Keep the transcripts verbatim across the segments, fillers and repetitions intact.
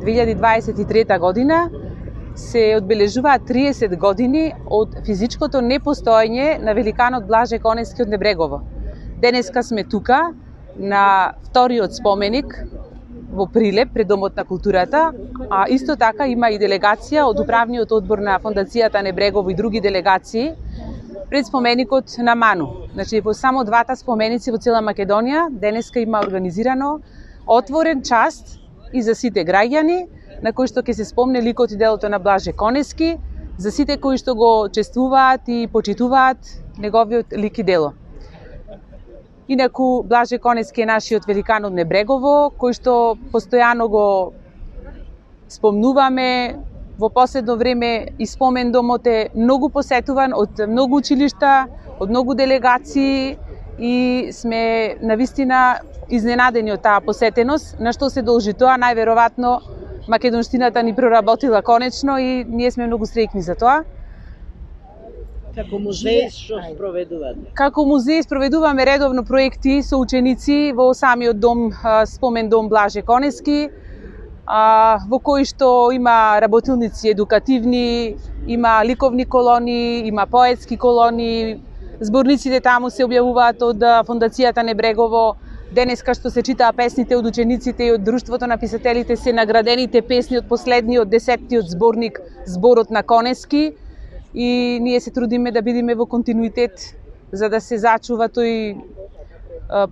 две илјади дваесет и трета година се одбележуваат триесет години од физичкото непостоење на великанот Блаже Конески од Небрегово. Денеска сме тука на вториот споменик во Прилеп пред Домот на културата, а исто така има и делегација од управниот одбор на Фондацијата Небрегово и други делегации пред споменикот на Ману. Значи, во само двата споменици во цела Македонија денеска има организирано отворен част и за сите граѓани, на кои што ќе се спомне ликот и делото на Блаже Конески, за сите кои што го чествуваат и почитуваат неговиот лик и дело. Инаку, Блаже Конески е нашиот великан од Небрегово, кој што постојано го спомнуваме. Во последно време и спомен домот е многу посетуван од многу училишта, од многу делегации и сме навистина изненадени од таа посетеност, на што се должи тоа, најверојатно македонштината ни проработила конечно и ние сме многу среќни за тоа. Како музеј што спроведувате? Како музеј спроведуваме редовно проекти со ученици во самиот дом, спомен дом Блаже Конески, во кој што има работилници едукативни, има ликовни колони, има поетски колони, зборниците таму се објавуваат од Фондацијата Небрегово. Денеска што се читаа песните од учениците и од Друштвото на писателите се наградените песни од последниот десеттиот зборник Зборот на Конески и ние се трудиме да бидеме во континуитет за да се зачува тој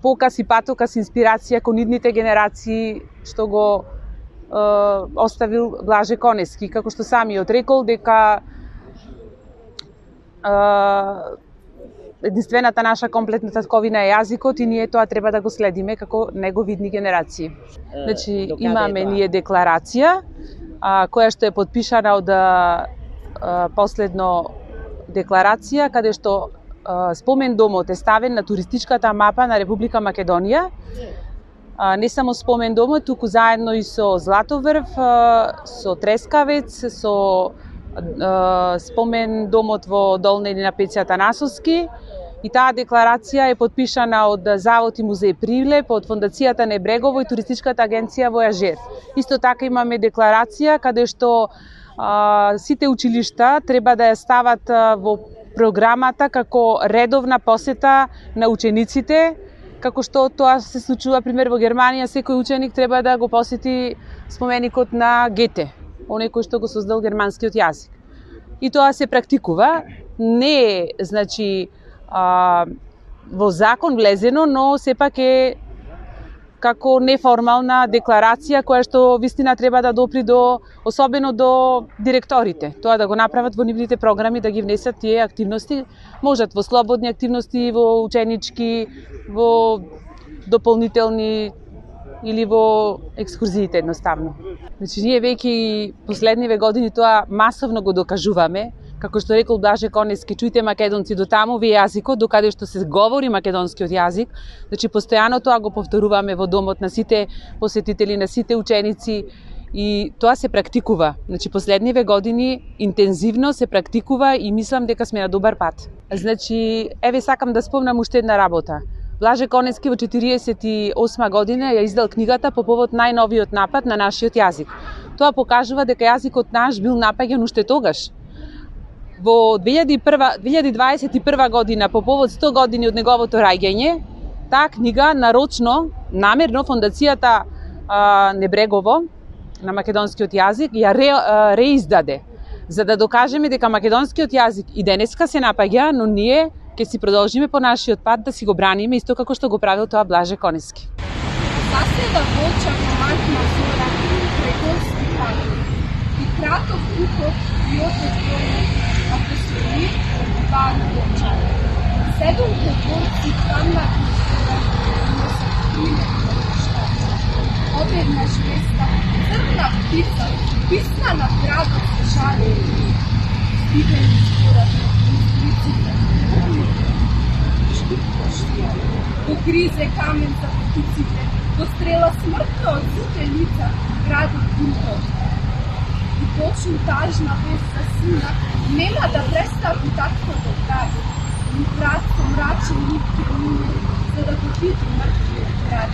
показ и патоказ инспирација кон идните генерации што го е, оставил Блаже Конески, како што самиот рекол дека е, единствената наша комплетна татковина е јазикот и ние тоа треба да го следиме како неговидни генерации. Значи, имаме ние декларација, а, која што е подпишана од а, последно декларација, каде што а, спомен домот е ставен на туристичката мапа на Република Македонија. А, не само спомен домот, туку заедно и со Златоврв, а, со Трескавец, со а, спомен домот во Долна или на Пеце Атанасовски. И таа декларација е подпишана од Завод и музеј Прилеп, од Фондацијата Небрегово и Туристичката агенција Војажер. Исто така имаме декларација каде што а, сите училишта треба да ја стават а, во програмата како редовна посета на учениците, како што тоа се случува пример во Германија, секој ученик треба да го посети споменикот на Гете, оној кој што го создал германскиот јазик. И тоа се практикува, не е, значи, а, во закон влезено, но сепак е како неформална декларација која што вистина треба да допри до, особено до директорите. Тоа да го направат во нивните програми, да ги внесат тие активности, можат во слободни активности, во ученички, во дополнителни или во екскурзиите едноставно. Значи, ние веќе последниве години тоа масовно го докажуваме. Како што рекол Блаже Конески, чујте македонци до таму ви јазикот, докаде што се говори македонскиот јазик. Значи, постојано тоа го повторуваме во домот на сите посетители, на сите ученици и тоа се практикува. Значи, последниве години интензивно се практикува и мислам дека сме на добар пат. Значи, еве сакам да спомнам уште една работа. Блаже Конески во четириесет и осма година ја издал книгата по повод најновиот напад на нашиот јазик. Тоа покажува дека јазикот наш бил напаѓан уште тогаш. Во две илјади дваесет и прва година, по повод сто години од неговото раѓање, таа книга нарочно, намерно, фондацијата а, Небрегово на македонскиот јазик ја ре, а, реиздаде, за да докажеме дека македонскиот јазик и денеска се напаѓа, но ние ќе си продолжиме по нашиот пат да си го браниме, исто како што го правил тоа Блаже Конески. Заседа волча командна зора, прегорски пак, и кратов купот и отот војне, апостоли, ван волча. Седом прегорски камна кустера, но се приме кошкача. Одеднаш места, црна птица, писна на градот шаре, стигани скора, излиците, го гризе камен за птиците, го стрела смртно од сите лица градот Гунтов. И почну тажна вест за сина, нема да престави такво да прави. Ни кратко мрачен лик ќе мине, за да го види мртвиот град.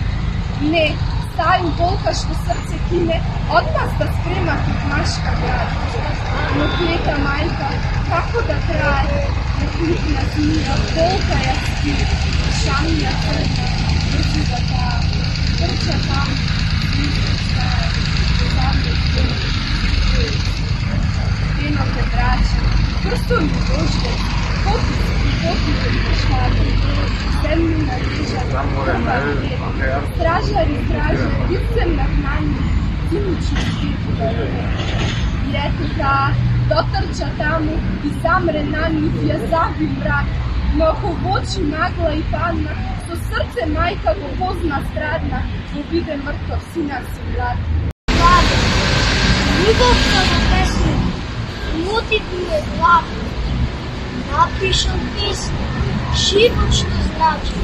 Не, стају волка што срце кине, одмаз да спрема кod машка град. Но клета мајка, како да трае, на клипна змија, волка ја спи, шамија црна, брзи да таа, трча там, близко стае, замле црна, денот е мрачен, прстон ми дожде, поти и поти се пешаде, земни на режа, стражари, стражари, лицем на гнани, зимични свити да рве. И ето таа, дотрча таму и замре на нив, ја заби мрак, но ако в очи нагла и падна, со срце мајка го позна страдна, го биде мртов сина си млад. Младе, љубовта на песни, лутит ми е глава. Напишал песни, живот што значи.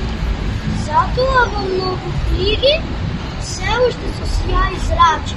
Затоа во многу книги се уште со сјај зрачи.